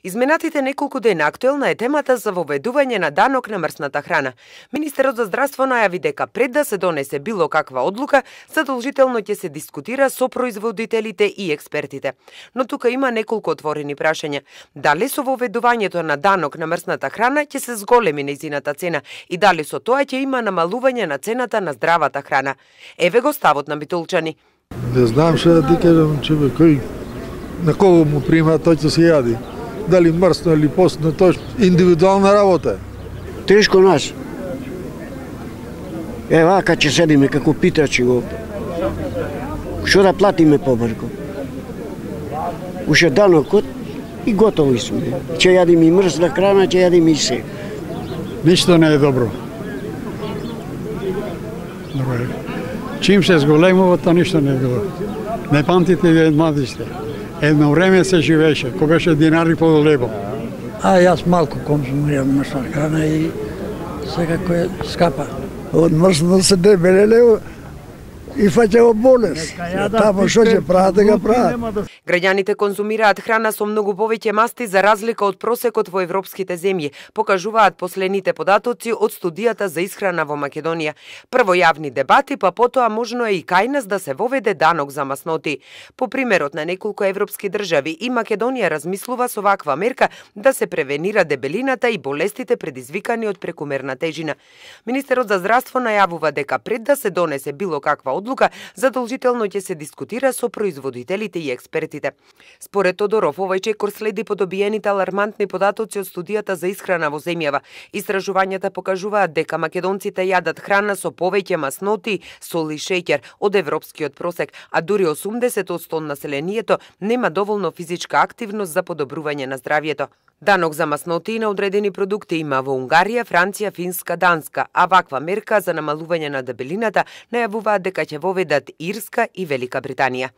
Изминатите неколку дена актуелна е темата за воведување на данок на мрсната храна. Министерот за здравство најави дека пред да се донесе било каква одлука, задолжително ќе се дискутира со производителите и експертите. Но тука има неколку отворени прашања. Дали со воведувањето на данок на мрсната храна ќе се зголеми нејзината цена и дали со тоа ќе има намалување на цената на здравата храна? Еве го ставот на битолчани. Не знам што да ти кажам, кој на кого му прима, тој ќе се јади. Дали мрсно или постно, тоа е индивидуална работа. Тешко нас. Вака ќе седиме како питачи овде. Што да платиме побрзо? Уште данокот и готови сме. Ќе јадиме и мрсна храна, ќе јадиме и се. Ништо не е добро. Чим се зголемува, тоа ништо не е добро. Не памтите вие младиште. Едно време се живееше, кога беше динари по лебо. Јас малку конзумирам мрсна храна и секако е скапа. Од мрсно се дебелеле и фаќа болест. Тамо што ќе прават да го прават. Граѓаните конзумираат храна со многу повеќе масти за разлика од просекот во европските земји, покажуваат последните податоци од студијата за исхрана во Македонија. Прво јавни дебати, па потоа можно е и кај нас да се воведе данок за масноти. По примерот на неколку европски држави и Македонија размислува со ваква мерка да се превенира дебелината и болестите предизвикани од прекумерна тежина. Министерот за здравство најавува дека пред да се донесе било каква одлука, задолжително ќе се дискутира со производителите и експертите. Според Тодоров, овој чекор следи по добиените алармантни податоци од студијата за исхрана во земјава. Истражувањата покажуваат дека македонците јадат храна со повеќе масноти, сол и шеќер од европскиот просек, а дури 80% од населението нема доволно физичка активност за подобрување на здравјето. Данок за масноти на одредени продукти има во Унгарија, Франција, Финска, Данска, а ваква мерка за намалување на дебелината најавуваат дека ќе воведат Ирска и Велика Британија.